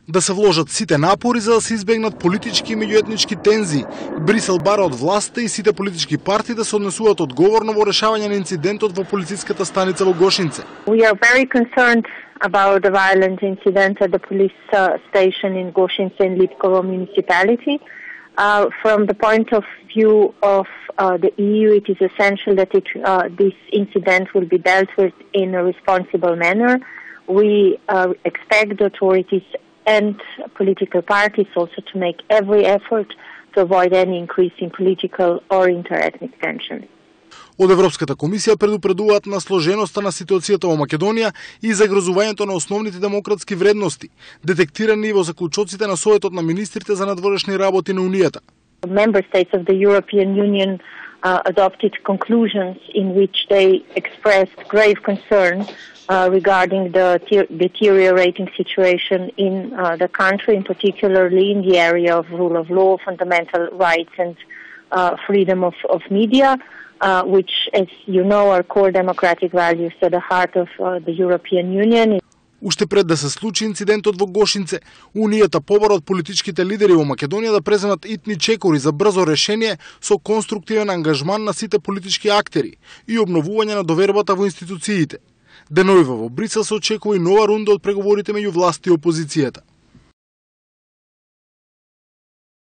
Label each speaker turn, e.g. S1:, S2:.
S1: да се вложат сите напори за да се избегнат политички и меѓуетнички тензии. Брисел бара од властта и сите политички партии да се однесуваат одговорно во решавање на инцидентот во полициската станица во Гошинце.
S2: We are very concerned about the violent incident at the police station in Goshince in Lipkovo municipality. From the point of view of the EU, it is essential that this incident will be dealt with in a responsible manner. We expect the authorities and political parties also to make every effort to avoid any increase in political or interethnic tensions.
S1: Од Европската комисија предупредуваат на сложеноста на ситуацијата во Македонија и загрозувањето на основните демократски вредности, детектирани и во заклучоците на Советот на министрите за надворешни работи на Унијата.
S2: Member states of the European Union adopted conclusions in which they expressed grave concern regarding the deteriorating situation in the country, in particularly in the area of rule of law, fundamental rights and freedom of media, which, as you know, are core democratic values at the heart of the European Union.
S1: Уште пред да се случи инцидентот во Гошинце, Унијата побара од политичките лидери во Македонија да преземат итни чекори за брзо решение со конструктивен ангажман на сите политички актери и обновување на довербата во институциите. Денојува во Брисел се очекува и нова рунда од преговорите меѓу власт и опозицијата.